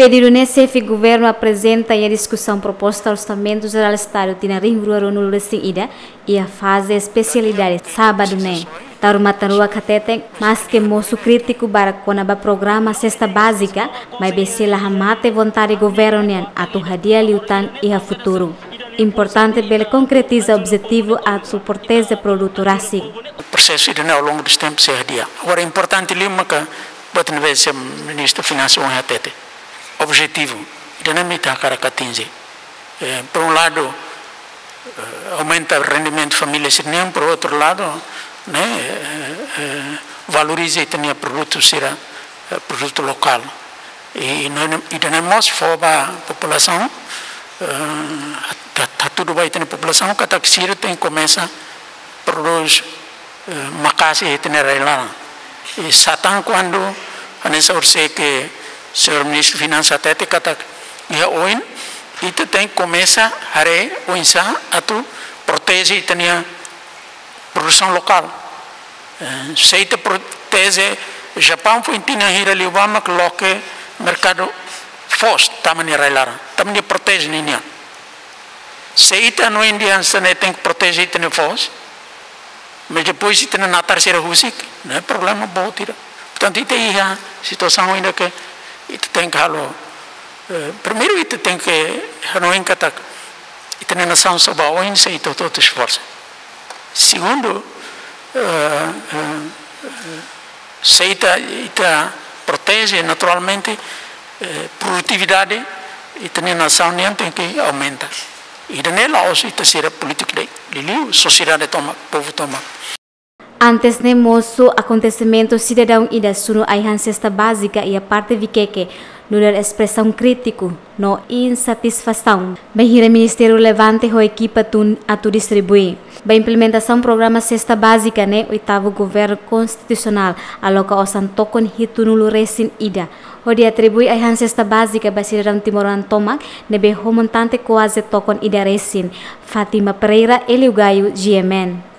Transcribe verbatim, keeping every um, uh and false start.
Pedidu ne'e xefe governu aprezenta iha diskusaun proposta Orsamentu Jerál Estadu tinan rihun rua ruanulu-resin-ida iha faze espesialidade sábadu ne'e. Taur Matan Ruak hateten, maske mosu krítiku barak kona-ba programa sesta bázika, maibé sei la hamate vontade governu nian atu hadi'a liután iha futuru. Importante bele konkretiza objetivu atu proteje produtu rasik. Prosesu ida-ne'e ao longo dos tempos sei hadi'a. Agora importante liu maka, buat ne'ebé Señór Ministru Finansas ohin hatete. Objetivu ida-ne'e mak ita hakarak atinje. Eh, por um lado, eh, aumenta rendimentu família sira-nian, por outro lado, ne'e, eh, eh, valoriza ita-nia produtu sira, eh, produtu lokál. I, i no, ida-ne'e mós fó ba populasaun, eh, ha-, ha-, hatudu ba ita-nia populasaun katak sira tenke komesa prodús, eh, maka'as iha ita-nia rai-laran. I sá tan kuandu, hanesan orsida ke Señór Ministru Finansas hatete katak iha oin, ita tenke komesa haree oinsá atu proteje ita-nia produsaun lokál. Eh, se ita proteje, Japaun foin tinan hira liubá mak loke merkadu foos tama nia rai-laran, tama nia proteje ninian. Se ita hanoin dehan hanesan ne'e tenke proteje ita-nia foos, mas depois ita-nia natar sira husik, ne'e problema boot ida. Portantu, ita iha situasaun ida ke ita tenke halo, eh, primeiru ita tenke hanoin katak ita-nia nasaun só ba oin se ita hotu-hotu esforsa. Segundu, eh, eh, eh, se ita, ita proteje naturalmente, eh, produtividade, ita-nia nasaun nian tenke aumenta. Ida-ne'e la'ós ita sira polítiku de'it, liuliu sosiedade tomak, povu tomak. Antes ne'e mosu akontesimentu sidadaun ida sunu ai-han sesta bázika iha parte Viqueque, nu'udar espresaun krítiku no insatisfasaun bainhira ministériu relevante ho ekipa tun atu distribui. Ba implementasaun programa sesta bázika ne'e oitavu governu konstitusionál aloka osan tokon hitunulu-resin-ida hodi atribui ai-han sesta bázika ba sidadaun timoroan tomak ne'ebé ho montante kuaze tokon ida resin. Fátima Pereira, Hélio Gaio, G M N.